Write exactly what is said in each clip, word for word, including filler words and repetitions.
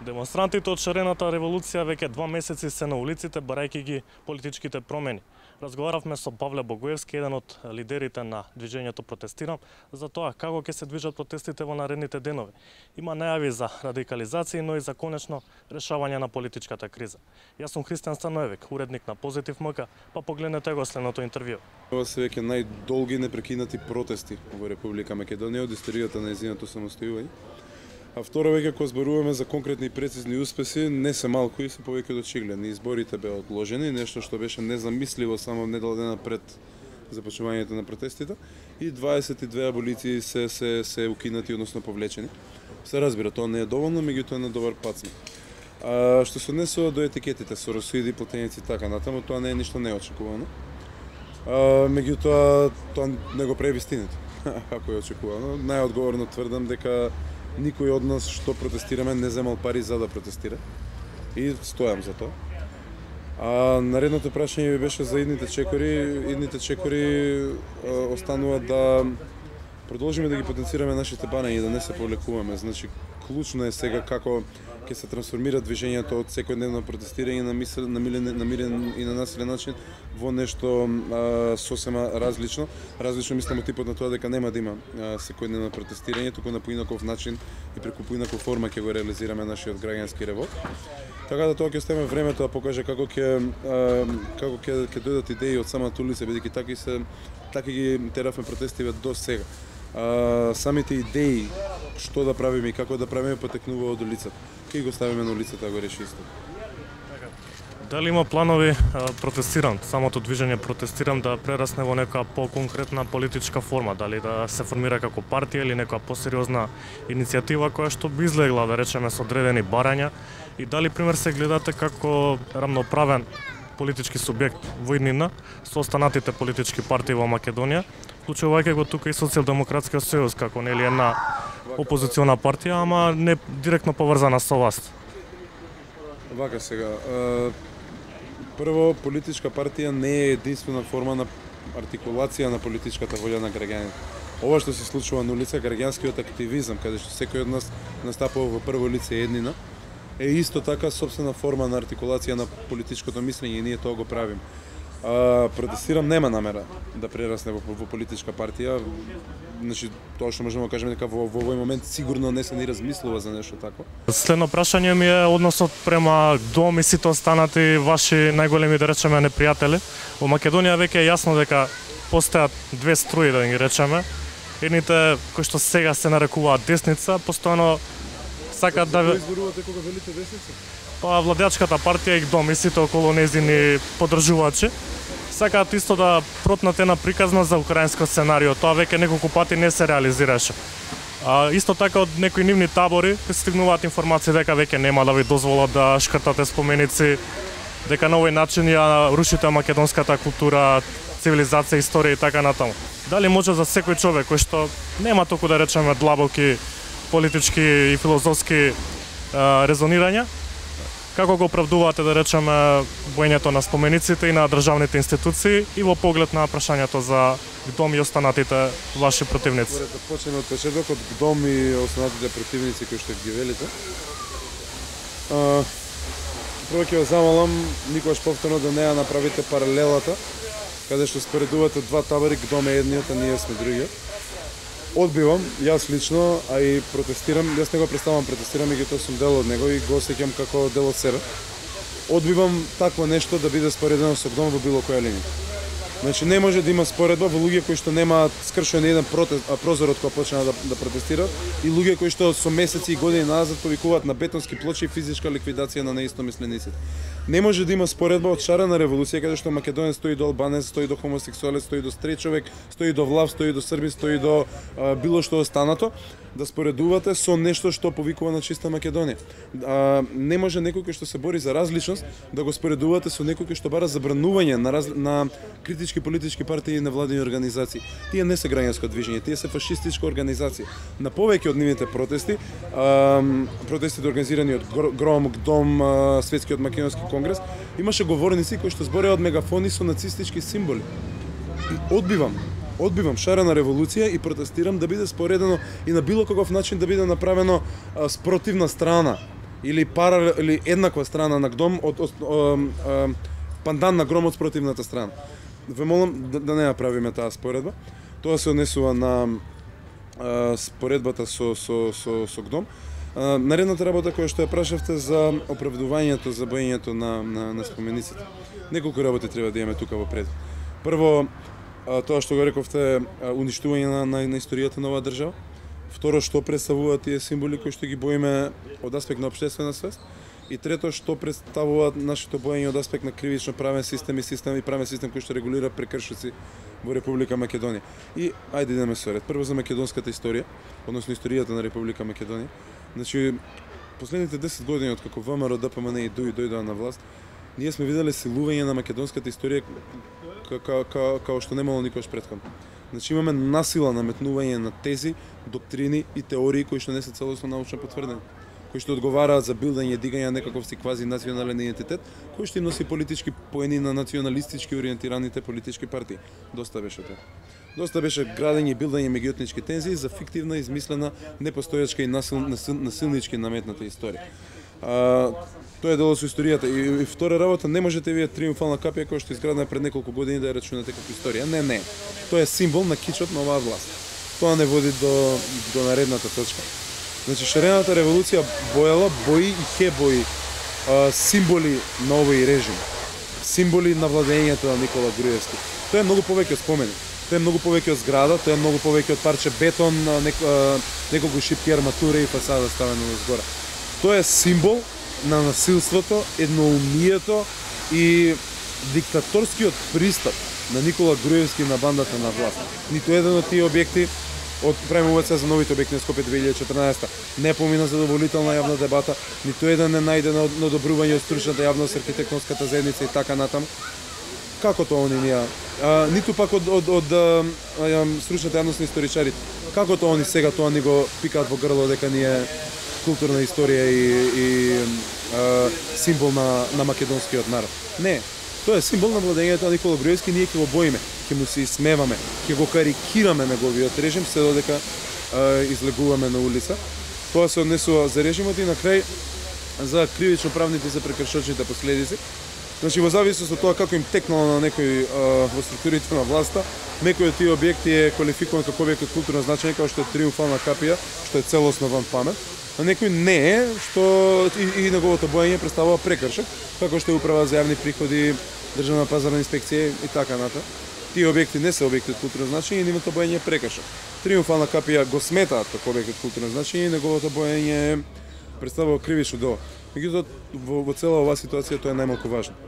Демонстрантите од шарената револуција веќе два месеци се на улиците барајќи ги политичките промени. Разговаравме со Павле Богоевски, еден од лидерите на движењето Протестирам, за тоа како ќе се движат протестите во наредните денови. Има најави за радикализација, но и за конечно решавање на политичката криза. Јас сум Христијан Станоевик, уредник на Позитив МК, па погледнете го следното интервју. Ова се веќе најдолги непрекинати протести во Република Македонија од историјата на нејзиното самостојување. А второ, веќе кога зборуваме за конкретни и прецизни успеси, не се малку и се повеќе од очигледни. Изборите беа одложени, нешто што беше незамисливо само недела дена пред започнувањето на протестите, и дваесет и две аболиции се се се укинати, односно повлечени. Се разбира, тоа не е доволно, меѓутоа на добар пат сме. А што се однесува до етикетите, соросоиди, платеници и така натаму, тоа не е ништо неочекувано. А, меѓутоа тоа не го прави вистината, ако е очекувано. Најодговорно тврдам дека никој од нас што протестираме не земал пари за да протестира и стојам за тоа. А наредното прашање ви беше за идните чекори. Идните чекори а, останува да продолжиме да ги потенцираме нашите барања и да не се повлекуваме. Значи, клучно е сега како ќе се трансформира движењето од секојдневно протестирање на мисел, на мирен, на мирен и на насилен начин во нешто а, сосема различно. Различно мислам од типот на тоа дека нема да има а, секојдневно протестирање, туку на поинаков начин и преку поинаква форма ќе го реализираме нашиот граѓански револт. Така да тоа ќе оставиме времето да покаже како ќе како ќе ќе дојдат идеи од самата улица, бидејќи така се така ги теравме протестиве до сега. А, самите идеи што да правиме и како да правиме потекнува од улицата. Ке го ставиме на улицата да го реши исто. Дали има планови Протестирам, самото движење Протестирам да прерасне во нека по-конкретна политичка форма, дали да се формира како партија или нека посериозна иницијатива која што би излегла, да речеме, со одредени барања, и дали пример се гледате како рамноправен политички субјект во иднина со останатите политички партии во Македонија, вклучувајќи го тука и Социјалдемократскиот сојуз како нели една опозициона партија, ама не директно поврзана со власт. Вака сега, прво, политичка партија не е единствена форма на артикулација на политичката волја на граѓаните. Ова што се случува на улица, граѓанскиот активизам, каде што секој од нас настапува во прво лице еднина, е исто така собствена форма на артикулација на политичкото мислење и ние тоа го правиме. А, Протестирам нема намера да прерасне во, во политичка партија. Значи, тоа што можеме да кажеме дека во, во овој момент сигурно не се ни размислува за нешто такво. Следно прашање ми е односот према Дом и сите останати ваши најголеми, да речеме, непријатели. Во Македонија веќе е јасно дека постојат две струи, да ги речеме. Едните кои што сега се нарекуваат десница, постојано сакаат да... Кој изборувате кога велите десница? Па владеачката партија и Дом и сите околу нејзини поддржувачи сакаат исто да протнат една приказна за украинско сценарио. Тоа веќе неколку пати не се реализираше. А, исто така од некои нивни табори стигнуваат информации дека веќе нема да ви дозволат да шкртате споменици, дека на овој начин ја рушите македонската култура, цивилизација, историја и така натаму. Дали може за секој човек кој што нема толку, да речеме, длабоки политички и филозофски а, резонирања, како го оправдувате, да речеме, боењето на спомениците и на државните институции и во поглед на прашањето за Дом и останатите ваши противници? Според да почнеме од почеток, од Дом и останатите противници кои што ги велите. А, прво ќе ве замолам никогаш повторно да не ја направите паралелата, каде што споредувате два табори, Дом е едниот, а ние сме другиот. Одбивам, јас лично, а и Протестирам, јас не го представам Протестирам и тоа сум дел од него и го осеќам како дел од себе. Одбивам такво нешто да биде споредено со Дом во било која линија. Значи не може да има споредба во луѓе кои што немаат скршен еден протест, а прозорот кога почнаа да, да протестираат, и луѓе кои што со месеци и години назад повикуваат на бетонски плочи и физичка ликвидација на неистомислениците. Не може да има споредба од шарена револуција каде што македонец стои до албанец, стои до хомосексуалец, стои до стрет човек, стои до влав, стои до срби, стои до а, било што останато, да споредувате со нешто што повикува на чиста Македонија. А, не може некој кој што се бори за различност да го споредувате со некој кој што бара забранување на, раз... на критички политички партии и невладини организации. Тие не се граѓанско движење, тие се фашистичка организација. На повеќе од нивните протести, а, протестите организирани од Гром, Дом, а, Светскиот македонски конгрес, имаше говорници кои што збореа од мегафони со нацистички символи. И одбивам Одбивам шарена револуција и протестирам да биде споредено и на било каков начин да биде направено а, спротивна страна или пара или еднаква страна на гдом од, од, од, од пандан на гром од спротивната страна. Ве молам да, да не ја правиме таа споредба. Тоа се однесува на а, споредбата со со со со гдом. А, наредната работа која што ја прашавте за оправдувањето за боењето на на, на спомениците. Неколку работи треба да имаме тука во пред. Прво, а, тоа што го рековте, а, уништување на, на, на историјата на оваа држава. Второ, што представуваат тие символи кои што ги боиме од аспект на општествена свест. И трето, што представуваат нашето боење од аспект на кривично правен систем и систем и правен систем кој што регулира прекршоци во Република Македонија. И ајде идеме со ред. Прво за македонската историја, односно историјата на Република Македонија. Значи, последните десет години од како ВМРО, ДПМН и ДУИ дојдоа на власт, ние сме виделе силување на македонската историја како што немало никогаш претходно. Значи имаме насила наметнување на тези, доктрини и теории кои што не се целосно научно потврдени, кои што одговараат за билдање, дигање на некаков си квази национален идентитет, кој што им носи политички поени на националистички ориентираните политички партии. Доста беше тоа. Доста беше градење и билдање меѓуетнички тензии за фиктивна, измислена, непостојачка и насил, насил, насилнички наметната историја. А, тоа е дело со историјата. И, и втора работа, не можете вие триумфална капија која што изградена пред неколку години да ја рачунате како историја. Не, не. Тоа е символ на кичот на оваа власт. Тоа не води до, до наредната точка. Значи, шарената револуција боела, бои и ке бои а, символи на овој режим. Символи на владењето на Никола Груевски. Тоа е многу повеќе од спомени. Тоа е многу повеќе од зграда, тоа е многу повеќе од парче бетон, нек, а, неколку шипки арматура и фасада ставено згора. Тоа е символ на насилството, едноумието и диктаторскиот пристап на Никола Груевски на бандата на власт. Ниту еден од тие објекти од премувација за новите објекти на Скопје две илјади и четрнаесетта не помина задоволителна јавна дебата, ниту еден не најде на одобрување од стручната јавност, архитектонската заедница и така натаму. Како тоа они ние? А, ниту пак од, од, од, од стручната јавност на историчарите. Како тоа они сега тоа ни го пикаат во грло дека ние културна историја и, и а, символ на, на македонскиот народ? Не. Тоа е символ на владењето на Никола Груевски, ние ќе го боиме, ќе му се исмеваме, ќе го карикираме неговиот режим, се додека а, излегуваме на улица. Тоа се однесува за режимот и на крај за кривично правните и за прекршочните последици. Значи, во зависност од тоа како им текнало на некој а, во структурите на власта, некој од тие објекти е квалификуван како објект од културно значење, како што е триумфална капија, што е целосно ван памет, а некој не е, што и, и неговото боење представува прекршок, како што е управа за јавни приходи, државна пазарна инспекција и така натаму. Тие објекти не се објекти од културно значење и нивото боење е прекршок. Триумфална капија го сметаат како објект од културно значење и неговото боење представува кривично дело. Меѓутоа во, во цела оваа ситуација тоа е најмалку важно.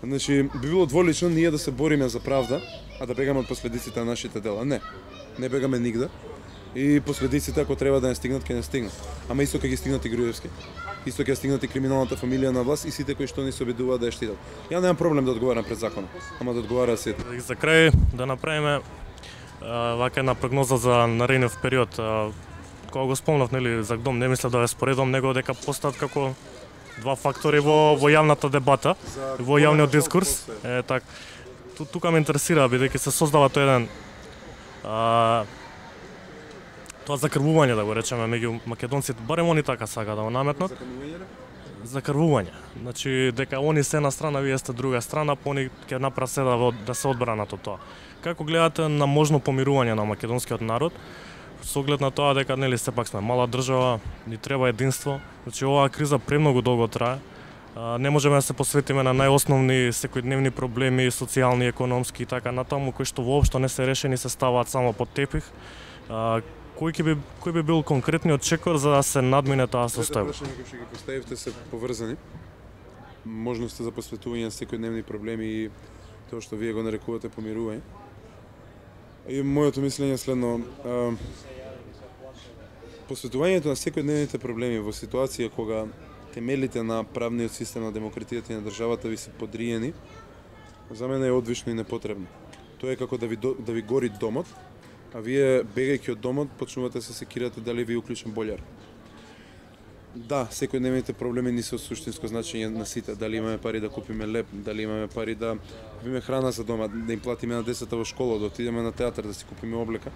Значи, би било дволично ние да се бориме за правда, а да бегаме од последиците на нашите дела. Не, не бегаме нигде. И последиците, ако треба да не стигнат, ќе не стигнат. Ама исто ќе ги стигнат и Груевски. Исто ќе стигнат и криминалната фамилија на власт и сите кои што ни се обидуваат да ја штитат. Ја немам проблем да одговарам пред законот, ама да одговараат сите. За крај да направиме вака една прогноза за наредниот период. Кога го спомнав, нели, за гдом, не мислев да ја споредувам, него дека постат како два фактори во во јавната дебата, во јавниот дискурс. Е так. Тука ме интересира бидејќи се создава тој еден а, тоа закрвување, да го речеме, меѓу македонците, барем они така сака да го наметнат. Закрвување. Значи дека они се една страна, вие сте друга страна, па они ќе направат се да, да се одбранат од тоа. Како гледате на можно помирување на македонскиот народ? Со оглед на тоа дека нели сепак сме мала држава, ни треба единство. Значи оваа криза премногу долго трае. А, не можеме да се посветиме на најосновни секојдневни проблеми, социјални, економски и така натаму, кои што воопшто не се решени, се ставаат само под тепих. А, кој ќе би кој би бил конкретниот чекор за да се надмине таа состојба? Прашања кои што ги поставивте се поврзани. Можности за посветување на секојдневни проблеми и тоа што вие го нарекувате помирување. И моето мислење е следно. А, посветувањето на секојдневните проблеми во ситуација кога темелите на правниот систем на демократијата и на државата ви се подриени, за мене е одвично и непотребно. Тоа е како да ви, да ви гори домот, а вие, бегајќи од домот, почнувате се секирате дали ви уклучен бољар. Да, секојдневните проблеми не се од суштинско значење на сите. Дали имаме пари да купиме леп, дали имаме пари да купиме храна за дома, да им платиме на децата во школа, да отидеме на театар, да си купиме облека.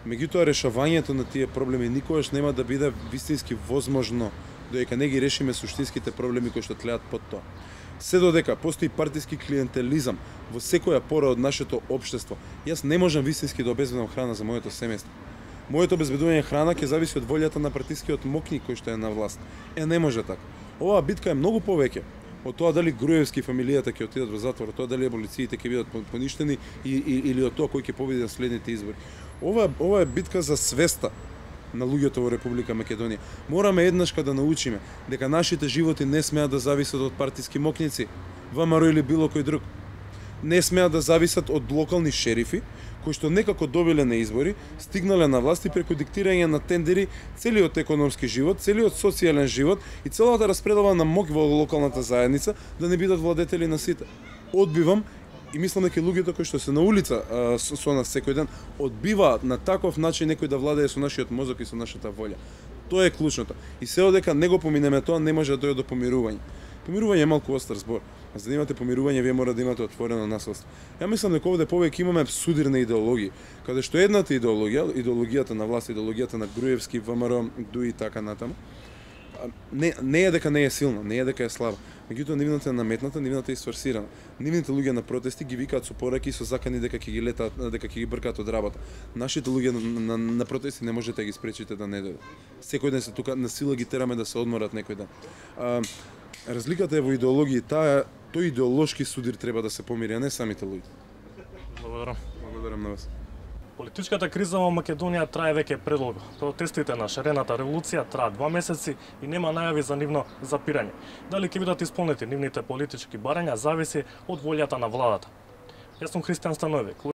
Меѓутоа, решавањето на тие проблеми никогаш нема да биде вистински возможно, додека не ги решиме суштинските проблеми кои што тлеат под тоа. Се додека постои партиски клиентелизам во секоја пора од нашето општество, јас не можам вистински да обезбедам храна за моето семејство. Моето обезбедување храна ќе зависи од волјата на партискиот мокник кој што е на власт. Е, не може така. Оваа битка е многу повеќе од тоа дали Груевски фамилијата ќе отидат во затвор, од тоа дали аболициите ќе бидат поништени и, и, или од тоа кој ќе победи на следните избори. Ова, ова е битка за свеста на луѓето во Република Македонија. Мораме еднашка да научиме дека нашите животи не смеат да зависат од партиски мокници, ВМРО или било кој друг. Не смеат да зависат од локални шерифи, кои што некако добиле на избори, стигнале на власт и преку диктирање на тендери целиот економски живот, целиот социјален живот и целата распределба на мок во локалната заедница да не бидат владетели на сите. Одбивам и мислам дека луѓето кои што се на улица а, со, со нас секој ден одбиваат на таков начин некој да владее со нашиот мозок и со нашата волја. Тоа е клучното. И се одека не го поминеме тоа, не може да дојде до помирување. Помирување е малку остар збор. А за да имате помирување, вие мора да имате отворено наследство. Ја мислам дека овде повеќе имаме судирни идеологии, каде што едната идеологија, идеологијата на власт, идеологијата на Груевски, ВМРО, Дуи и така натаму, не, не е дека не е силна, не е дека е слаба. Меѓутоа нивната е наметната, нивната е сфорсирана. Нивните луѓе на протести ги викаат со пораки и со закани дека ќе ги летаат, дека ќе ги бркаат од работа. Нашите луѓе на, на, на протести не можете да ги спречите да не дојдат. Секој ден се тука на сила ги тераме да се одморат некој ден. А, разликата е во идеологии, таа тој идеолошки судир треба да се помири, а не самите луѓе. Благодарам. Благодарам на вас. Политичката криза во Македонија трае веќе предолго. Протестите на шарената револуција траат два месеци и нема најави за нивно запирање. Дали ќе бидат исполнети нивните политички барања зависи од волјата на владата. Јас сум Христијан Становик.